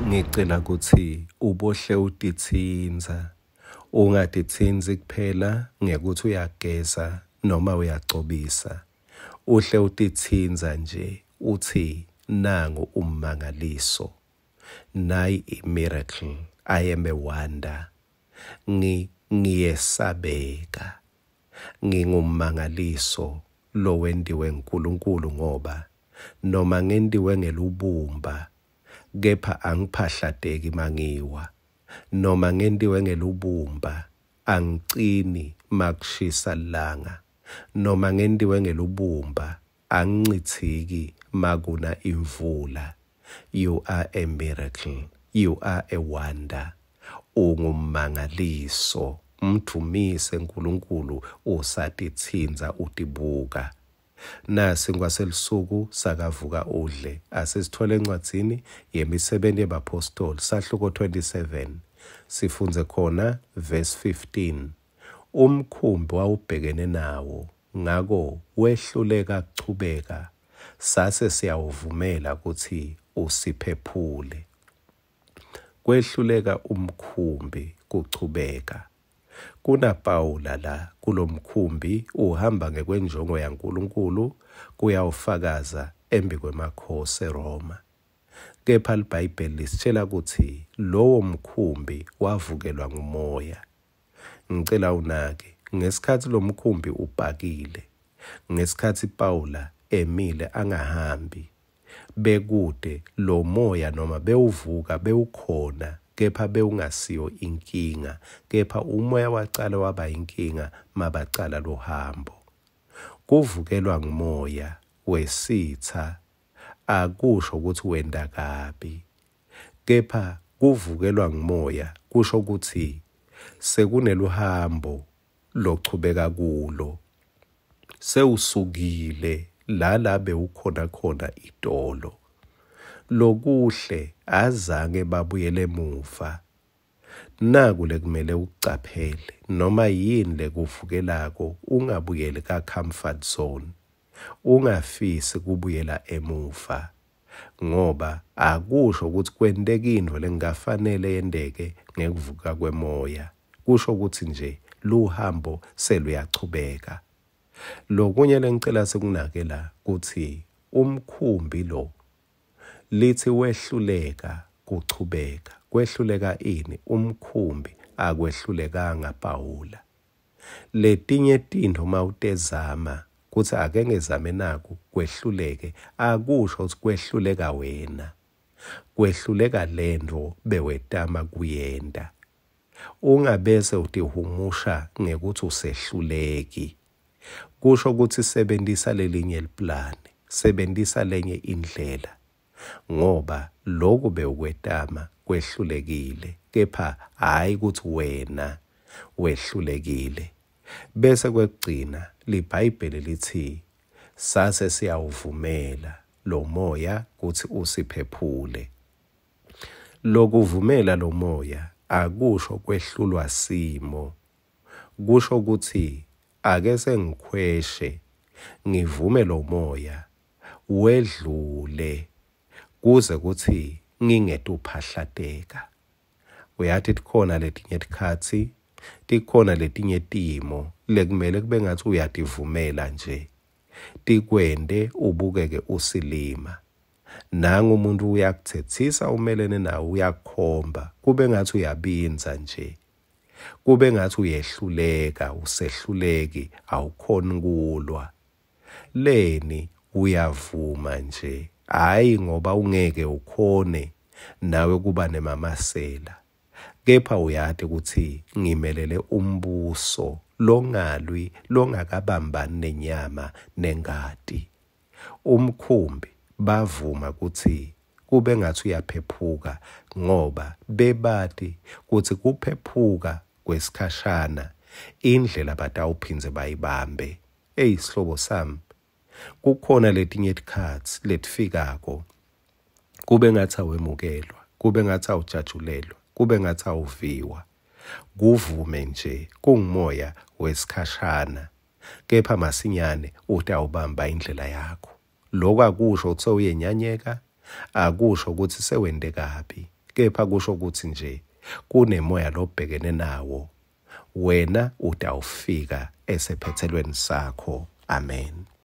Ngicela kutsi ubohle utitsintsa, ungatitsintsi kuphela ngekutsi uyageza noma uyagcobisa, uhle utitsintsa nje utsi nangu ummangaliso, nayi i-miracle, I am a wonder, ngiyesabeka, ngingummangaliso lowentiwe nguNkulunkulu ngoba noma ngentiwe ngelubumba kepha angiphahlateki mangiwa, noma ngentiwe ngelubumba angicini makushisa lilanga, noma ngentiwe ngelubumba angincithiki makuna imvula. You are a miracle, you are a wonder, ungummangaliso. Mdvumise uNkulunkulu usatitsintsa utibuka. Nasi ngwaselisuku sakavuka udle. Asisithole encwadzini yemisebenzi yebaphostoli sahluko 27 sifundze khona verse 15. Umkhumbi wawubhekene nawo, ngako wehluleka kuchubeka, sase siyawuvumela kutsi usiphephule. Kwehluleka umkhumbi kuchubeka. Kuna Pawula la kulomkhumbi uhamba ngekwenjongo yaNkulunkulu kuyawufakaza embikwemakhosi eRoma. Kepha liBhayibheli lisitshela kutsi lowo mkhumbi wavukelwa ngumoya. Ngicela unake, ngesikhatsi lomkhumbi upakile, ngesikhatsi Pawula emile angahambi, bekude lo moya noma bewuvuka bewukhona, kepha bewungasiyo inkinga, kepha umoya wacala waba inkinga mabacala luhambo. Kuvukelwa ngumoya wesitsa akusho ukuthi wenta kabi, kepha kuvukelwa ngumoya kusho ukuthi sekuneluhambo lochubeka kulo, sewusukile la bewukhona khona itolo. Lokuhle azange babuyele emuva. Naku lekumele ukucaphele, noma yini lekuvukelako ungabuyeli ka comfort zone, ungafisi kubuyela emuva, ngoba akusho ukuthi kwenteka intfo lengafanele yenteke ngekuvuka kwemoya. Kusho ukuthi nje luhambo seluyachubeka. Lokunye lengicela sikunake la kutsi umkhumbi lo lithi wehluleka kuchubeka. Kwehluleka ini? Umkhumbi. Akwehlulekanga Pawula. Letinye tintfo mawutezama kutsi ake ngezame naku kwehluleke, akusho ukuthi kwehluleka wena, kwehluleka lentfo bewetama kuyenta. Ungabese utihumusha ngekuthi usehluleki. Kusho ukuthi sebentisa lelinye liplani, sebentisa lenye indlela, ngoba loku bewukwetama kwehlulekile, kepha hhayi ukuthi wena wehlulekile. Bese kwekugcina liBhayibheli lithi sase siyawuvumela lo moya kutsi usiphephule. Lokuvumela lo moya akusho kwehlulwa simo, kusho kutsi ake sengikhweshe ngivume lo moya wedlule kuze kutsi ngingetuphahlateka. Uyati tikhona letinye tikhatsi, tikhona letinye timo lekumele kube ngathi uyativumela nje tikwente ubukeke usilima. Nangu umuntu uyakuthethisa umelene nawe, uyakukhomba kube ngathi uyabindza nje, kube ngathi uyehluleka, usehluleki, awukhoni kulwa. Leni uyavuma nje, hhayi ngoba ungeke ukhone nawe kuba nemamasela, kepha uyati ukuthi ngimelele umbuso longalwi, longakabambani nenyama nengati. Umkhumbi bavuma kutsi kube ngathi uyaphephuka, ngoba bebati kutsi kuphephuka kwesikhashana indlela batawuphindze bayibambe. Eyi sihlobo sami, kukhona letinye tikhatsi letifikako kube ngathi awemukelwa, kube ngathi awujatshulelwa, kube ngathi awuviwa. Kuvume nje kungumoya wesikhashana, kepha masinyane utawubamba indlela yakho. Lokho akusho ukuthi sewuyenyanyeka, akusho ukuthi sewente kabi, Kepha kusho kutsi nje kunemoya lobhekene nawo, wena utawufika esephetselweni sakho. Amen.